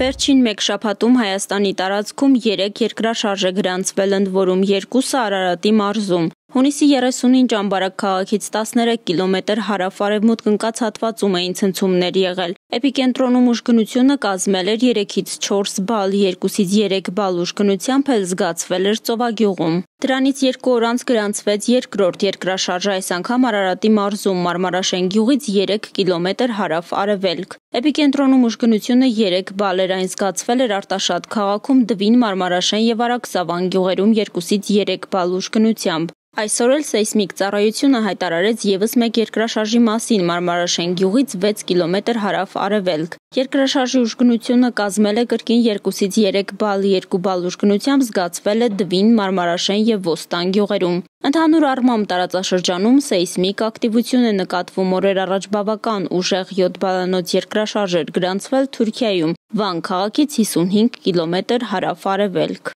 Վերջին մեկ շաբաթում Հայաստանի տարածքում 3 երկրաշարժ է գրանցվել, ընդ որում 2-ը Արարատի մարզում։ Հունիսի 30-ին Ճամբարակ քաղաքից 13 կիլոմետր հարավ-արևմուտք ընկած հատվածում էին ցնցումներ եղել։ Էպիկենտրոնում ուժգնությունը կազմել էր 3-ից 4 բալ, 2-ից 3 բալ ուժգնությամբ էլ զգացվել էր Ծովագյուղում։ Դրանից 2 օր անց գրանցվեց երկրորդ երկրաշարժը, այս անգամ Արարատի մարզում Մարմարաշեն գյուղից 3 կիլոմետր հարավ-արևելք։ Էպիկենտրոնում ուժգնությունը 3 բալ էր, այն զգացվել էր Արտաշատ քաղաքում, Դվին, Մարմարաշեն և Արաքսավան գյուղերում 2-ից 3 բալ ուժգնությամբ։ Այսօր էլ սեյսմիկ ծառայությունը հայտարարեց ևս մեկ երկրաշարժի մասին Մարմարաշեն գյուղից 6 կիլոմետր հարավ-արևելք։ Երկրաշարժի ուժգնությունը կազմել է կրկին 2-ից 3 բալ, 2 բալ ուժգնությամբ զգացվել է Դվին, Մարմարաշեն և Ոստան գյուղերում։ Ընդհանուր առմամբ տարածաշրջանում սեյսմիկ ակտիվություն է նկատվում, օրեր առաջ բավական ուժեղ 7 բալանոց երկրաշարժ էր գրանցվել Թուրքիայում, Վան քաղաքից 55 կիլոմետր հարավ-արևելք։